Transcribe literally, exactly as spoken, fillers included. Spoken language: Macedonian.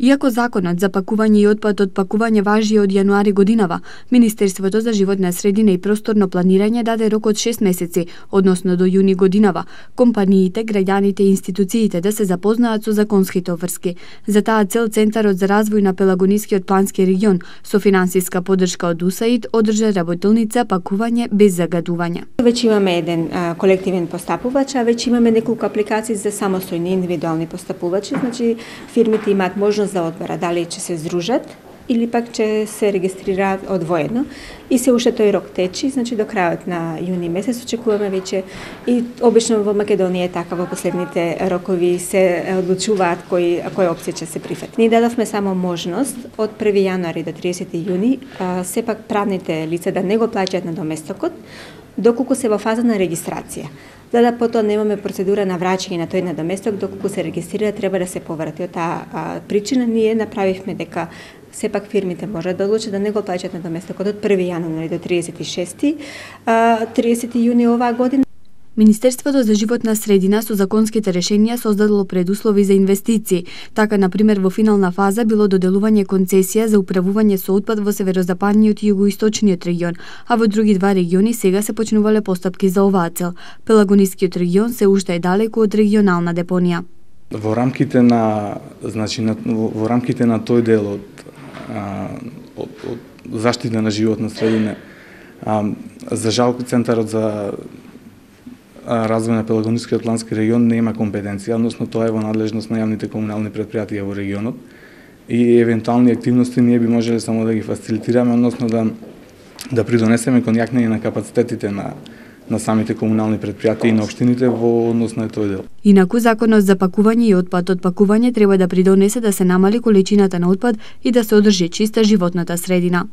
Иако законот за пакување и отпад од пакување важи од јануари годинава, Министерството за животна средина и просторно планирање даде рок од шест месеци, односно до јуни годинава, компаниите, граѓаните и институциите да се запознаат со законските обврски. За таа цел Центарот за развој на Пелагонискиот плански регион со финансиска поддршка од УСАИД одржа работилница пакување без загадување. Веќе имаме еден а, колективен постапувач, а веќе имаме неколку апликации за самостојни индивидуални постапувачи, значи фирмите имаат можност да одберат дали ќе се здружат или пак ќе се регистрираат одвоено. И се уште тој рок течи, значи до крајот на јуни месец очекуваме веќе, и обично во Македонија е така, во последните рокови се одлучуваат кои која опција ќе се прифати. Ние дадовме само можност од први јануари до триесети јуни а, сепак правните лица да не го плаќаат на доместокот доколку се во фаза на регистрација. За да потоа немаме процедура на враќање на тој надоместок, доколку се регистрира треба да се поврати. Од таа причина ние направивме дека сепак фирмите можат да одлучат да не го плаќаат надоместокот од први јануари до триесети шести, триесети јуни оваа година. Министерството за животна средина со законските решенија создадоло предуслови за инвестиции. Така, например, во финална фаза било доделување концесија за управување со отпад во северозападниот и југоисточниот регион, а во други два региони сега се почнувале постапки за оваа цел. Пелагонискиот регион се уште е далеку од регионална депонија. Во рамките на, значи, на, во рамките на тој дел од, а, од, од заштита на животна средина, а, за жал Центарот за развој на Пелагонискиот плански регион не има компетенција, односно тоа е во надлежност на јавните комунални претпријатија во регионот и евентуални активности ние би можеле само да ги фасилитираме, односно да да придонесеме кон јакнење на капацитетите на на самите комунални претпријатија и на општините во однос на тој дел. Инаку законот за пакување и отпад од пакување треба да придонесе да се намали количината на отпад и да се одржи чиста животната средина.